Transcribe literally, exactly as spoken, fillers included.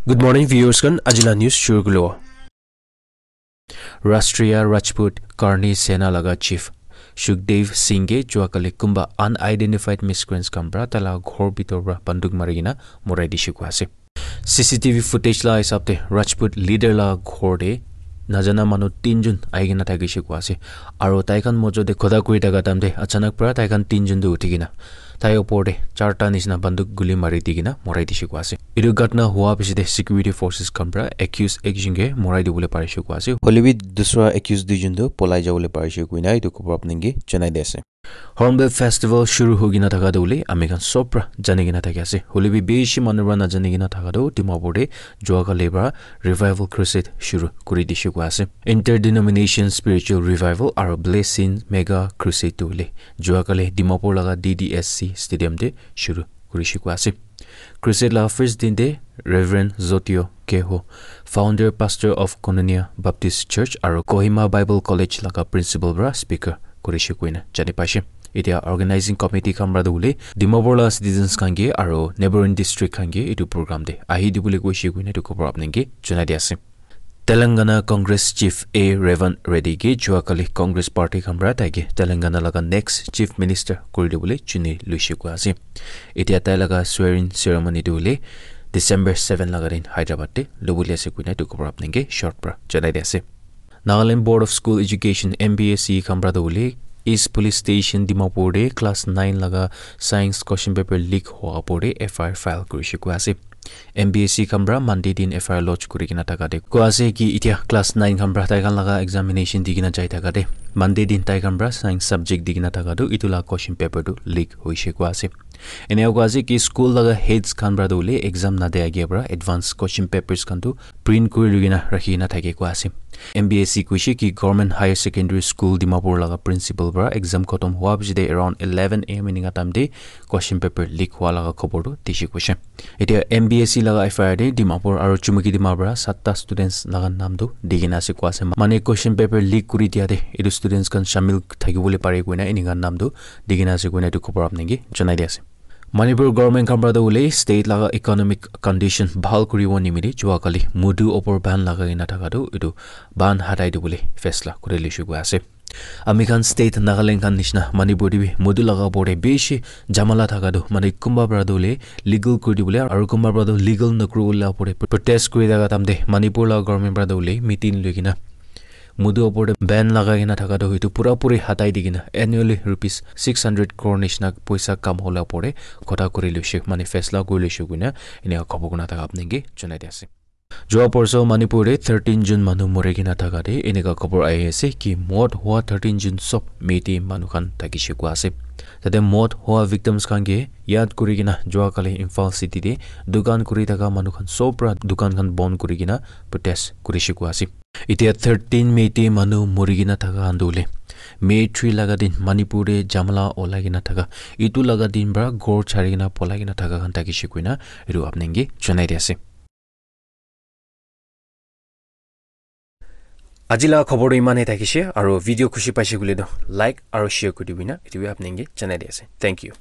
Good morning, viewers khan. Ajila news shuru kulo. Rashtriya Rajput Karni Sena laga chief Sukhdev Singh ke jua kali kumba unidentified miscreants khan pra tala ghor bitor pra banduk mari kena morai dishe koi ase. C C T V footage la hisab te Rajput leader la ghor te najana manu tinjun ahi kena thakishe koi ase. Aro tai khan mojo te kotha kuri thaka time te achanak pra tai khan tinjun tu uthi kena tai opor te charta nishina banduk guli mari di kena morai dishe koi ase. Etu ghatna hua piche te security forces khan pra accused ekjun ke morai dibole parishe koi ase. Hoile bi dusra accused duijun tu polai jabole parishe koina etu khobor apni ke janai di ase. Hornbill Festival shuru hoi kena thaka tu hoile ami khan sob pra jani kena thaki ase. Hoile bi bishi manu pra najani kena thaka tu Dimapur te jua kali pra Revival Crusade shuru kuri dishe koi ase. Interdenomination Spiritual Revival aro Blessing Mega Crusade tu hoile jua kali Dimapur laga D D S C Stadium te shuru kurishe koi ase. Crusade la first din te Reverend Zotio Keho, founder pastor of Koinonia Baptist Church aro Kohima Bible College laga principal pra speaker kurishe koina jani paishe. Etia organizing committee khan pra tu hoile Dimapur la citizens khan ke aro neighboring district khan ke etu program te ahi dibole koishe koina etu khobor apni ke janai di ase. Telangana Congress Chief A Revan Reddy ke jua kali Congress Party khan pra tai ke Telangana laga next Chief Minister kuri dibole chuni luishe koi ase. Etia tai laga swearing ceremony tu hoile December seven laga din Hyderabad te lobole ase koina etu khobor apni ke short pra janai di ase. Nagaland Board of School Education, N B S E khan pra tu hoile East Police Station Dimapur te class nine laga science question paper leak hua opor te F I R file kurishe koi ase. N B S E khan pra Monday din F I R lodge kuri kena thaka te koi ase ki etia class nine khan pra tai khan laga examination di kena jai thaka te Monday din tai khan pra science subject di kena thaka tu etu la question paper tu leak hoishe koi ase. Enia koi ase ki school laga heads khan pra tu hoile exam na dia age pra advance question papers khan tu print kuri lui kena rakhi kena thake koi ase. N B S E koishe ki Government Higher Secondary School Dimapur laga principal pra exam khatam hua piche te around eleven A M enika time te question paper leak hua laga khobor tu dishe koishe. Etia N B S E laga F I R te Dimapur aro Chumukedima pra satta students laga naam tu di kena ase koi ase. Mane question paper leak kuri dia te etu students khan shamil thaki bole pare koina enika naam tu di kena ase koina etu khobor apni ke janai di ase. Manipur government khan pra tu hoile state laga economic condition bhal kuri bo nimite jua kali mudu opor ban lagai kena thaka tu etu ban hatai dibole faisla kuri luishe koi ase. Ami khan state Nagaland khan nishina Manipur te bi mudu laga opor te bishi jamala thaka tu mane kunba pra tu hoile legal kuri dibole aro kunba pra tu legal nakuri bole opor te protest kuri thaka time te Manipur laga government pra tu hoile meeting lui kena mudu opor te ban lagai kena thaka tu etu pura puri hatai di kena annually rupees six hundred crore nishina poisa kam hola opor te kotha kuri luishe mane faisla kuri luishe koina enika khobor kuna thaka apni ke janai di ase. Jua porso Manipur te thirteen jun manu mori kena thaka te enika khobor ahi ase ki mot hua thirteen jun sob Meitei manu khan thakishe koi ase. Tate mot hua victims khan ke yad kuri kena jua kali Imphal city te dukan kuri thaka manu khan sob pra dukan khan bon kuri kena protest kurishe koi ase. Etia thirteen Meitei manu mori kena thaka khan tu hoile May three laga din Manipur te jamala olai kena thaka etu laga din pra ghor chari kena polai kena thaka khan thakishe koina etu apni ke janai di ase. Aji laga khobor tu iman e thakishe, aro video khushi paishe koile tu like aro share kuri dibi na, etu bi apni ke janai di ase. Thank you.